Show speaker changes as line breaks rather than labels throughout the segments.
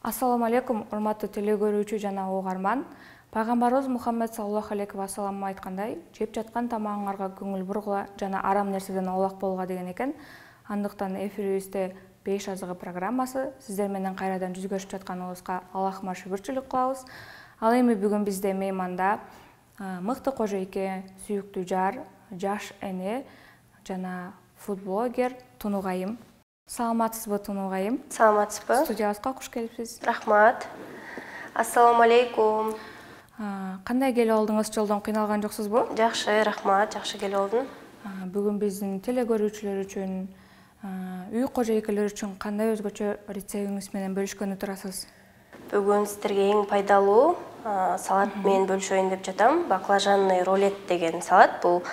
Ассаламу алейкум, урматтуу телегөрүүчү жана угарман. Пайгамбарыбыз Мухаммед саллаллаху алейхи ва саллам айткандай, жеп жаткан тамагыңарга көңүл бургула жана арам нерседен аулак болгула деген экен. Андыктан эфирибизде 5 азыгы программасы сиздер менен кайрадан жүзгөрүшүп жатканыбызга Аллахыма шүгүрчүлүк кылабыз. Ал эми бүгүн бизде мейманда мыкты кожойке, сүйүктүү жар, жаш эне жана фудблогер Тунугайым. Саламатсызбы, Тунугайым?
Саламатсызбы.
Студиябызга куш келипсиз.
Рахмат. Ассаламу алейкум.
Кандай келип алдыңыз? Жолдон кыйналган жоксузбу?
Жакшы, рахмат. Жакшы келип алдым.
Бүгүн биздин телегөрүүчүлөр үчүн, үй кожойкелер үчүн кандай өзгөчө рецептиңиз менен бөлүшкөнү турасыз?
Бүгүн сиздерге эң пайдалуу салат менен бөлүшөйүн деп жатам. Баклажанный рулет деген салат. Бул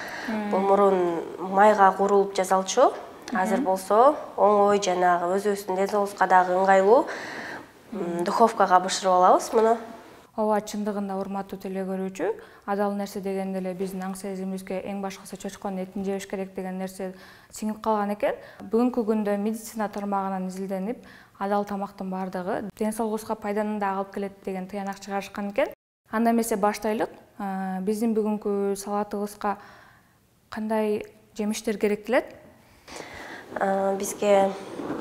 мурун майга куурулуп жасалчу. Азыр болсо оңой жанагы өзүбүздүн ден соолугубузга дагы ыңгайлуу. Духовкага бышырып алабыз муну.
Ооба, чындыгында урматтуу телегөрүүчү, адал нерсе дегенде эле биздин аң сезимибизге эң башкысы чочконун этин жебеш керек деген нерсе сиңип калган экен. Бүгүнкү күндө медицина тармагынан изилденип, адал тамактын баардыгы ден соолугубузга пайданы да алып келет деген тыянак чыгарышкан экен. Анда эмесе баштайлык. Биздин бүгүнкү салатыбызга кандай жемиштер керектелет?
Бизге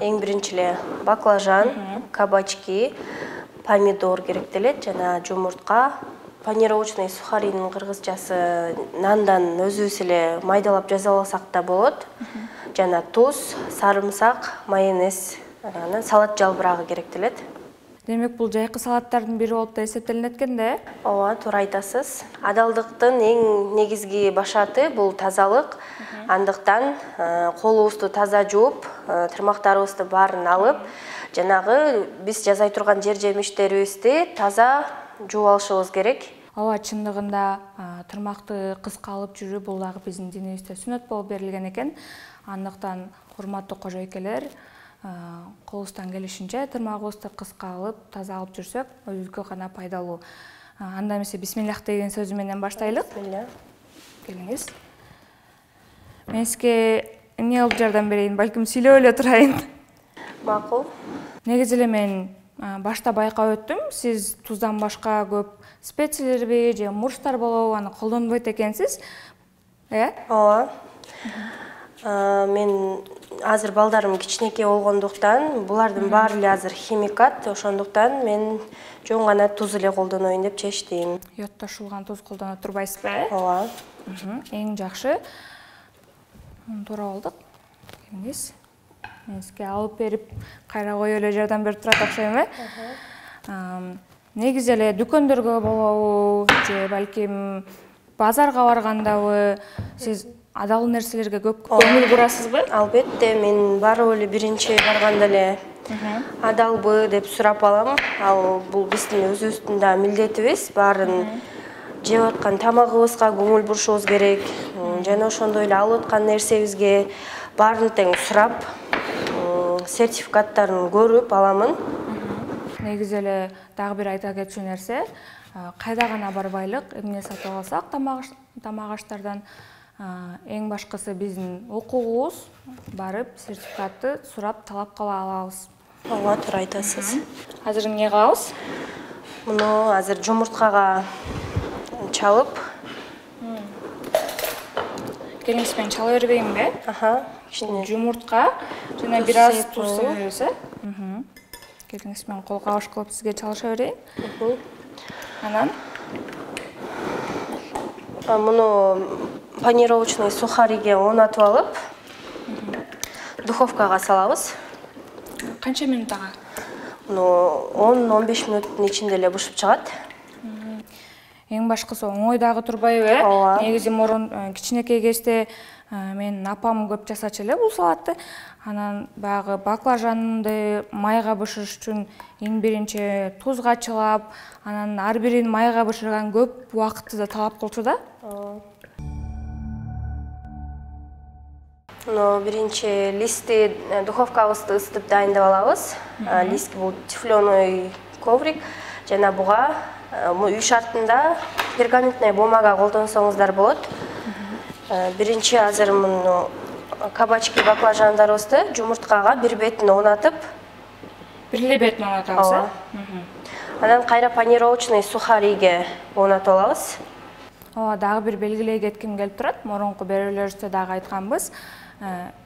эң биринчи эле баклажан, кабачки, помидор керектелет жана жумуртка, панировочный сухаринин кыргызчасы нандан өзүбүз эле майдалап жасап алсак да болот. Жана туз, сарымсак, майонез, анан салат жалбырагы керектелет.
Демек, бул жайкы салаттардын бири болуп да эсептелинет экен да?
Ооба, туура айтасыз. Адалдыктын эң негизги башаты бул тазалык. Андыктан колубузду таза жууп, тырмактарыбызды баарын алып, жанагы биз жасай турган жер жемиштерибизди таза жууп алышыбыз керек.
Ооба, чындыгында тырмакты кыска алып жүрүү бул дагы биздин динибизде сүннөт болуп берилген экен. Андыктан урматтуу кожойкелер, колубуздан келишинче тырмагыбызды кыска алып, таза алып жүрсөк, өзүбүзгө гана пайдалуу. Анда эмесе бисмиллах деген сөзү менен баштайлык.
Бисмилля.
Келиңиз. Мен сизге эмне кылып жардам берейин, балким сүйлөп эле турайын.
Макул.
Негизи эле мен башта байкап өттүм, сиз туздан башка көп специялерби же мурчтар болобу аны колдонбойт экенсиз.
Ооба. Мен азыр балдарым кичинекей болгондуктан, булардын баары эле азыр химикат, ошондуктан мен жөн гана туз эле колдоноюн деп чечтим.
Йодтошулган туз колдоно турбайсызбы?
Ооба.
Эң жакшы. Туура болдук. Келиңиз. Мен сизге алып берип, кайра коюп эле жардам берип турат окшойм, Негизи эле дүкөндөргө болобу же балким базарга баргандабы сиз адал нерселерге көп көңүл бурасызбы?
Албетте, мен барып эле биринчи барганда эле адалбы деп сурап алам. Ал бул биздин өзүбүздүн да милдетибиз. Баарын жеп аткан тамагыбызга көңүл бурушубуз керек. Жана ошондой эле алып аткан нерсебизге баарын тең сурап, сертификаттарын көрүп аламын.
Негизи эле дагы бир айта кетчү нерсе, кайда гана барбайлык, эмне сатып алсак тамак аштардан эң башкысы биздин укугубуз барып сертификатты сурап талап кыла алабыз.
Ооба, туура айтасыз.
Азыр эмне кылабыз?
Муну азыр жумурткага чалып.
Келиңиз, мен чала бербейинби?
Кичине
Жумуртка жана бир аз туз себебиз, Келиңиз, мен кол кабыш кылып сизге чалыша берейин. Анан
муну панировочный сухариге оонатып алып, духовкага салабыз.
Канча минут ага?
Муну 10-15 мүнөттүн ичинде эле бышып чыгат.
Эң башкысы оңой дагы турбайбы?
Ооба.
Негизи мурун кичинекей кезде менин апам көп жасачу эле бул салатты. Анан баягы баклажанды майга бышырыш үчүн эң биринчи тузга чылап, анан ар бирин майга бышырган көп убакытты да талап кылчу да.
Биринчи листти духовкабызды ысытып дайындап алабыз. Лист бул тефлоный коврик жана буга үй шартында пергаментный бумага колдонсоңуздар болот. Биринчи азыр муну кабачки баклажандарыбызды жумурткага бир бетин оонатып,
Бир эле бетин оонатабыз,
Ооба. Анан кайра панировочный сухариге оонатып алабыз.
Ооба, дагы бир белгилей кетким келип турат. Мурунку берүүлөрүбүздө дагы айтканбыз.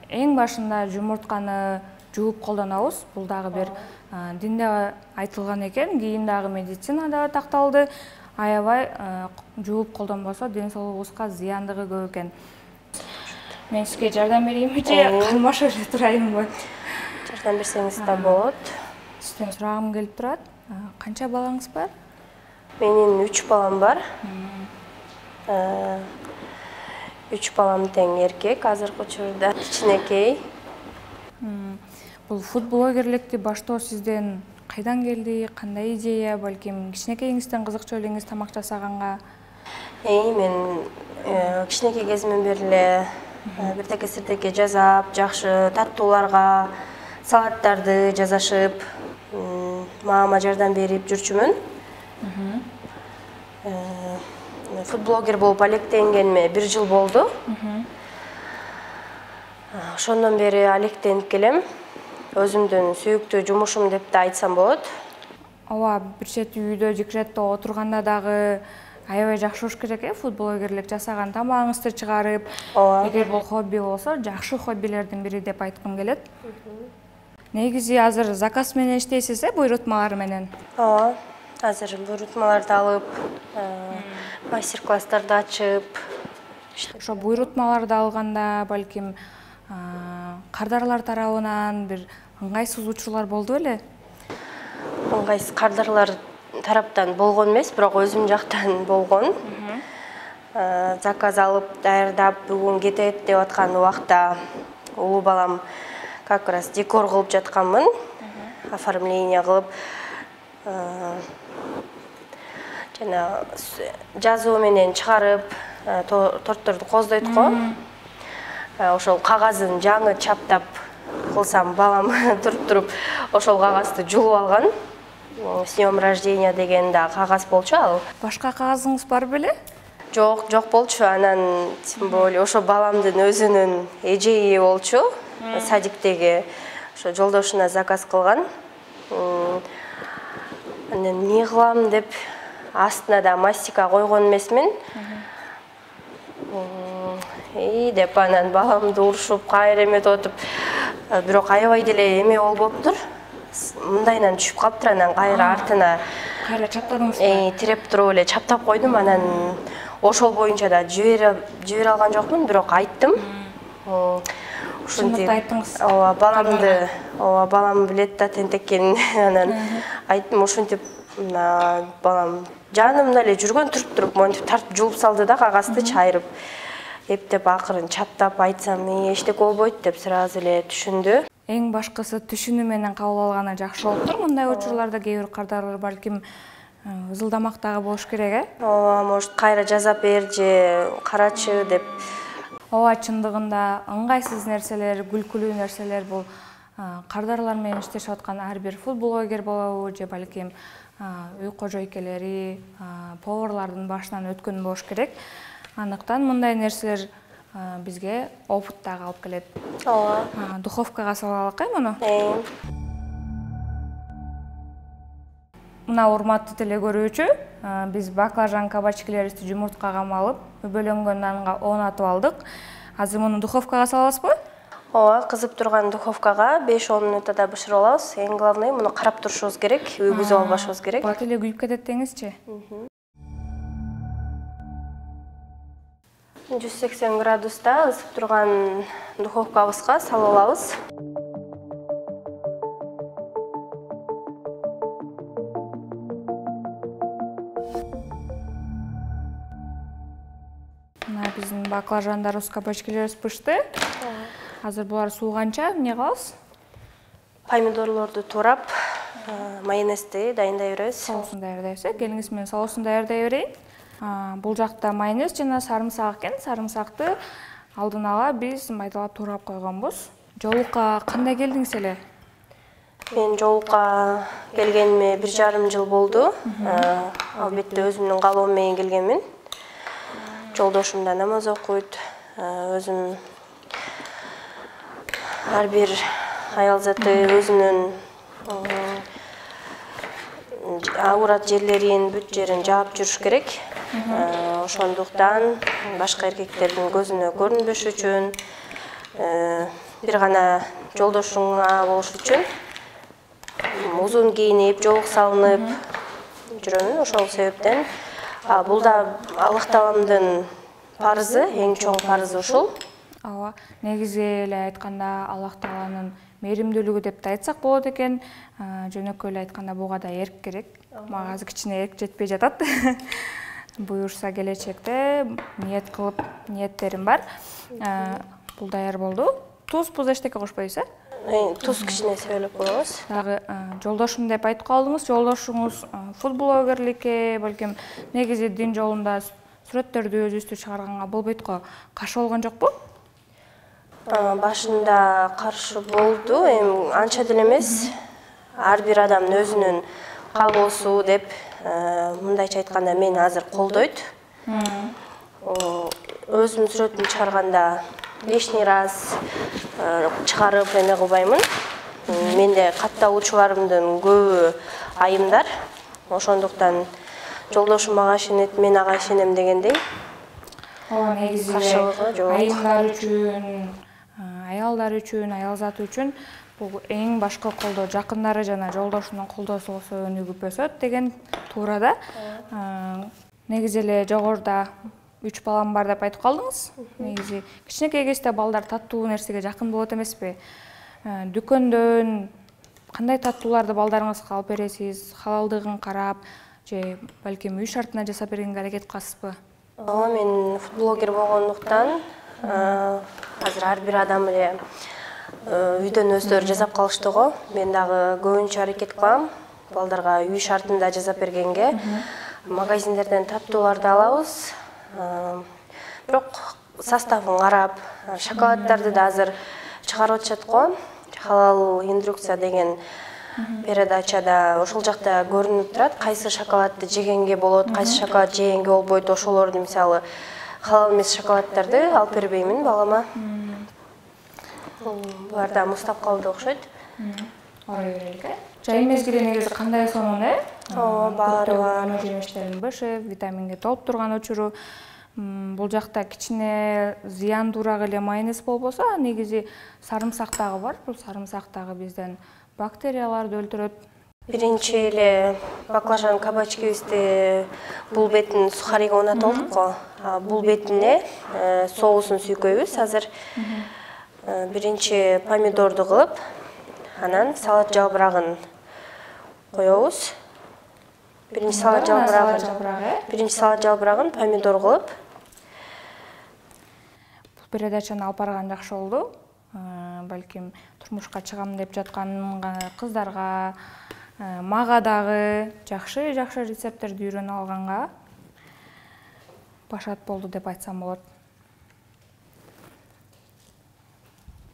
Эң башында жумуртканы жууп колдонобуз. Бул дагы бир динде айтылган экен, кийин дагы медицинада такталды. Аябай жууп колдонбосо ден соолугубузга зыяндыгы көп экен. Мен сизге жардам берейинби же калмашып эле турайынбы?
Жардам берсеңиз да болот.
Сизден сурагым келип турат. Канча балаңыз бар?
Менин 3 балам бар. 3 балам тең эркек, азыркы учурда кичинекей.
Бул футблогерликти баштоо сизден кайдан келди? Кандай идея? Балким кичинекейиңизден кызыкчу элеңиз тамак жасаганга?
Мен кичинекей кезимден бери эле биртеке-сиртеке жасап, жакшы таттууларга салаттарды жасашып, мамама жардам берип жүрчүмүн. Футблогер болуп алектенгениме 1 жыл болду. Ошондон бери алектенип келем. Өзүмдүн сүйүктүү жумушум деп да айтсам болот.
Ооба, бир чети үйдө жикретте отурганда дагы аябай жакшы болуш керек футблогерлик жасаган тамагыңызды чыгарып. Эгер бул хобби болсо, жакшы хоббилердин бири деп айткым келет. Негизи азыр заказ менен иштейсиз, буйрутмалар менен?
Ооба, азыр буйрутмаларды алып, мастер-класстарды ачып.
Ошо буйрутмаларды алганда, балким кардарлар тарабынан бир ыңгайсыз учурлар болду беле?
Ыңгайсыз кардарлар тараптан болгон эмес, бирок өзүм жактан болгон. Заказ алып, даярдап, бүгүн кетет деп аткан убакта улуу балам как раз декор кылып жатканмын. Оформление кылып, жана жазуу менен чыгарып, тортторду коздойт го. Ошол кагазын жаңы чаптап кылсам, балам туруп ошол кагазды жулуп алган. С днем рождения деген да кагаз болчу ал.
Башка кагазыңыз бар беле?
Жок болчу. Анан тем более ошо баламдын өзүнүн эжеи болчу. Садиктеги ошо жолдошуна заказ кылган. Анан эмне кылам деп астына да мастика койгон эмесмин. Деп анан баламды урушуп, кайра эметип отуп, бирок аябай деле эме болуп болуптур. Мындайынан түшүп калыптыр, анан кайра артына
кайра чаптадыңызбы?
Тиреп туруп эле чаптап койдум. Анан ошол боюнча да жибере алган жокмун, бирок айттым.
Ушинтип айттыңыз.
Ооба, балам билет да тентеккенин. Анан айттым, ушинтип балам жанымда эле жүргөн туруп монтип тартып жулуп салды да кагазды чайрып. Эптеп акырын чаптап айтсам, эчтеке болбойт деп сразу эле түшүндү.
Эң башкысы түшүнүү менен кабыл алганы жакшы болуптур. Мындай учурларда кээ бир кардарлар балким ызылдамак дагы болуш керек,
Ооба, может кайра жазап бер же карачы деп.
Ооба, чындыгында ыңгайсыз нерселер, күлкүлүү нерселер бул кардарлар менен иштешип аткан ар бир футблогер болобу же балким үй кожойкелери, поварлардын башынан өткөн болуш керек. Андыктан мындай нерселер бизге опыт дагы алып келет.
Ооба.
Духовкага салалык муну. Мына урматтуу теле көрүүчү, биз баклажан кабачкилерибизди жумурткага малып, өбөлөнгөн нанга оонатып алдык. Азыр муну духовкага салабызбы?
Ооба, кызып турган духовкага 5-10 минутада бышырып алабыз. Эң главный муну карап турушубуз керек, үйгүзүп албашыбыз керек.
Бат эле күйүп кетет деңизчи.
180 градуста ысып турган духовкабызга салып алабыз.
Мына биздин баклажандарыбыз, кабачкилерибиз пышты. Азыр булар сууганча эмне кылабыз?
Помидорлорду турап, майонезди даярдай беребиз.
Соусун даярдайбыз. Келиңиз менен соусун даярдай берейин. Бул жакта майонез жана сарымсак экен. Сарымсакты алдын ала биз майдалап турап койгонбуз. Жолукка кандай келдиңиз эле?
Мен жолукка келгениме 1,5 жыл болду. Албетте өзүмдүн каалоом менен келгенмин. Жолдошум да намаз окуйт. Өзүм ар бир аял заты өзүнүн Ауырат жерлерин, бүт жерин жаап жүрүш керек. Ошондуктан башка эркектердин көзүнө көрүнбөш үчүн, бир гана жолдошуңа болуш үчүн узун кийинип, жоолук салынып жүрөмүн. Ошол себептен бул да Аллах Тааламдын парызы, эң чоң парызы ушул.
Ооба, негизи эле айтканда Аллах Тааланын мээримдүүлүгү деп да айтсак болот экен. Жөнөкөй эле айтканда буга да эрк керек. Мага азыр кичине эрк жетпей жатат. Буюрса келечекте ниет кылып, ниеттерим бар. Бул даяр болду. Туз эчтеке кошпойсуз,
Туз кичине себелеп коебуз.
Дагы жолдошум деп айтып калдыңыз. Жолдошуңуз футблогерликке, балким негизи дин жолунда сүрөттөрдү өзүбүздү чыгарганга болбойт го. Каршы болгон жокпу?
Башында каршы болду, эми анча деле эмес. Ар бир адамдын өзүнүн каалоосу деп, мындайча айтканда мени азыр колдойт. Өзүмдүн сүрөтүмдү чыгарганда лишний раз чыгарып эме кылбаймын. Менде катталуучуларымдын көбү айымдар. Ошондуктан жолдошум мага ишенет, мен ага ишенем дегендей.
Ооба, негизи айымдар үчүн, аялдар үчүн, аял заты үчүн бул эң башкы колдоо жакындары жана жолдошунун колдоосу болсо өнүгүп өсөт деген туура да. Негизи эле жогоруда 3 балам бар деп айтып калдыңыз. Негизи кичинекей кезде балдар таттуу нерсеге жакын болот эмеспи? Дүкөндөн кандай таттууларды балдарыңызга алып бересиз? Халалдыгын карап же балким үй шартына жасап бергенге аракет кыласызбы?
Ооба, мен футблогер болгондуктан азыр ар бир адам эле үйдөн өздөрү жасап калышты го. Мен дагы көбүнчө аракет кылам балдарга үй шартында жасап бергенге. Магазиндерден таттууларды алабыз. Бирок составын карап, шоколаддарды да азыр чыгарып атышат го. Халал инструкция деген передачада ошол жакта көрүнүп турат, кайсы шоколадды жегенге болот, кайсы шоколад жегенге болбойт. Ошолорду мисалы халал эмес шоколаддарды алып бербеймин балама. Булар да муздап калды окшойт.
Орой берелик, Жай мезгили негизи кандай сонун,
баары бар.
Жемиштердин бышы, витаминге толуп турган учуру. Бул жакта кичине зыяндуураак эле майонез болбосо, негизи сарымсак дагы бар. Бул сарымсак дагы бизден бактерияларды өлтүрөт.
Биринчи эле баклажан кабачкибизди бул бетин сухариге оонатып алдык го. Бул бетине соусун сүйкөйбүз азыр. Биринчи помидорду кылып, анан салат жалбырагын коебуз. Биринчи салат жалбырагын помидор кылып.
Бул передачаны алып барган жакшы болду. Балким турмушка чыгам деп жаткан кыздарга, мага дагы жакшы рецепттерди үйрөнүп алганга башат болду деп айтсам болот.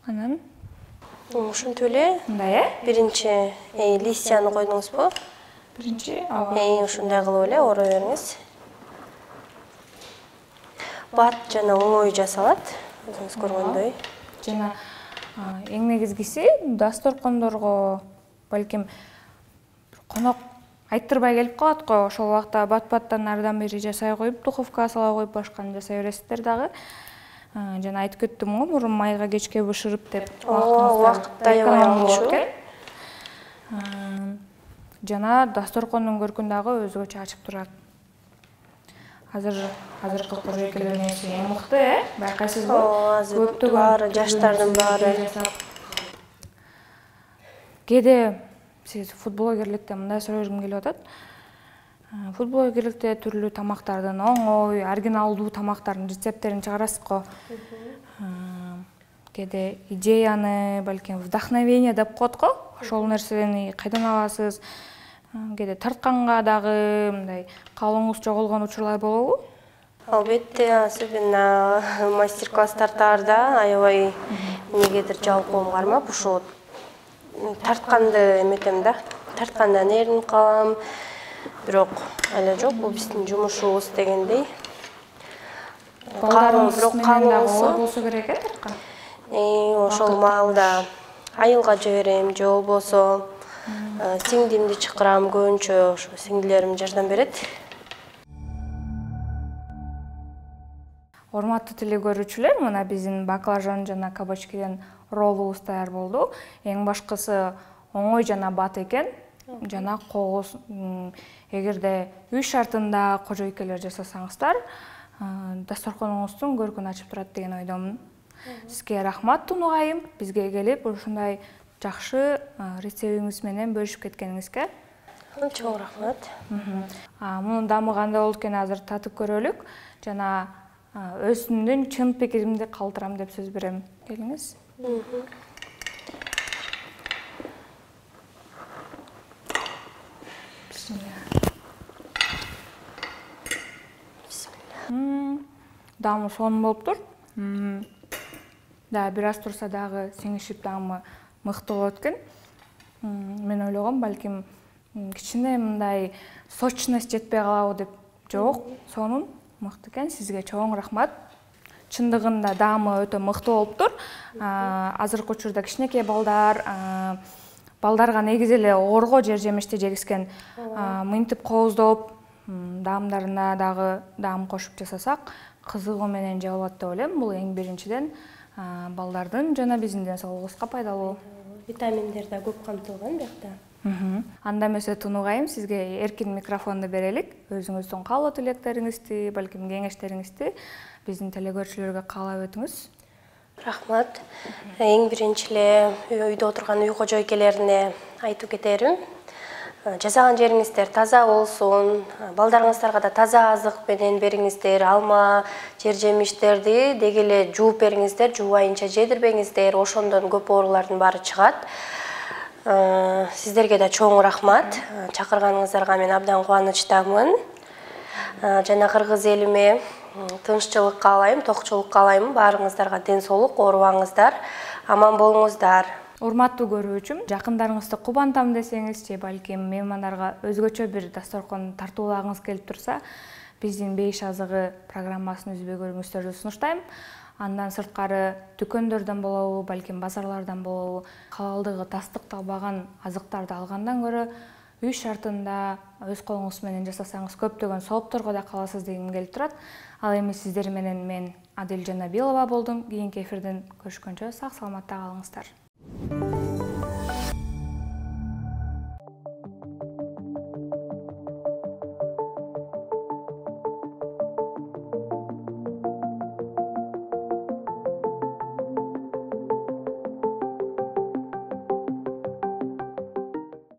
Анан
ушинтип эле.
Мындай,
Биринчи листьяны койдуңузбу?
Биринчи,
ушундай кылып эле орой бериңиз. Бат жана оңой жасалат, өзүңүз көргөндөй.
Жана эң негизгиси дасторкондорго балким конок айттырбай келип калат го. Ошол убакта бат-баттан ардан бери жасай коюп, духовкага сала коюп башканы жасай бересиздер дагы. Жана айтып кеттим го, мурун майга кечке бышырып деп.
Убакыт аябай алчу.
Жана дасторкондун көркүн дагы өзгөчө ачып турат. Азыркы кожойкелер нерсе эң мыкты, байкайсызбы?
Көптөгөн баары, жаштардын баары.
Кээде сиз футблогерликте мындай сурашкым келип атат. Футблогерликте түрлүү тамактардын оңой, оригиналдуу тамактардын рецепттерин чыгарасыз го. Кээде идеяны, балким вдохновение деп коет го. Ошол нерсени кайдан аласыз? Кээде тартканга дагы мындай каалооңуз жоголгон учурлар болобу?
Албетте, особенно мастер-класс тартаарда аябай эмнегедир жалпоом кармап, ушул тартканды эметем да. Тарткандан эринип калам. Бирок эле жок, бул биздин жумушубуз дегендей.
Балдарыңыз менен дагы болсо керек тарткан.
Ошол маалда айылга жиберем, же болбосо Сиңдимди чакырам, көбүнчө ошо сиңдилерим жардам берет.
Урматтуу телекөрүүчүлөр, мына биздин баклажан жана кабачкиден роллубуз даяр болду. Эң башкысы оңой жана бат экен. Жана кооз, эгерде үй шартында кожойкелер жасасаңыздар, дасторконуңуздун көркүн ачып турат деген ойдомун. Сизге рахмат Тунугайым, бизге келип ушундай жакшы рецептиңиз менен бөлүшүп кеткениңизге.
Чоң рахмат.
Мунун дамы кандай болду экенин азыр татып көрөлүк. Жана өзүмдүн чын пикиримди калтырам деп сөз берем. Келиңиз. Дамы сонун болуптур. Да бир аз турса дагы сиңишип дамы мыкты болот экен. Мен ойлогом, балким кичине мындай сочность жетпей калабы деп. Жок, сонун мыкты экен. Сизге чоң рахмат. Чындыгында дамы өтө мыкты болуптур. Азыркы учурда кичинекей балдарга негизи эле оорго жер жемишти жегизген. Мынтип кооздоп, даамдарына дагы даам кошуп жасасак, кызыгуу менен жеп алат деп ойлойм. Бул эң биринчиден балдардын жана биздин ден соолугубузга пайдалуу.
Витаминдер да көп камтылган биякта.
Анда эмесе Тунугайым, сизге эркин микрофонду берелик. Өзүңүздүн каалоо тилектериңизди, балким кеңештериңизди биздин телекөрүүчүлөргө каалап өтүңүз.
Рахмат. Эң биринчи эле үйдө отурган үй кожойкелерине айтып кетерим. Жасаган жериңиздер таза болсун, балдарыңыздарга да таза азык менен бериңиздер, алма, жер жемиштерди деги эле жууп бериңиздер, жуубайынча жедирбеңиздер, ошондон көп оорулардын баары чыгат. Сиздерге да чоң рахмат. Чакырганыңыздарга мен абдан кубанычтамын. Жана кыргыз элиме тынччылык каалайм, токчулук каалайм. Баарыңыздарга ден соолук, оорубаңыздар, аман болуңуздар.
Урматтуу көрүүчүм, жакындарыңызды кубантам десеңиз же балким меймандарга өзгөчө бир дасторкон тартуулагыңыз келип турса, биздин Бейиш азыгы программасын үзбөй көрүңүздөрдү сунуштайм. Андан сырткары дүкөндөрдөн болобу, балким базарлардан болобу, халалдыгы тастыкталбаган азыктарды алгандан көрө үй шартында өз колуңуз менен жасасаңыз көптөгөн соопторго да каласыз дегим келип турат. Ал эми сиздер менен мен Адил Жанабилова болдум. Кийинки эфирден көрүшкөнчө сак саламатта калыңыздар.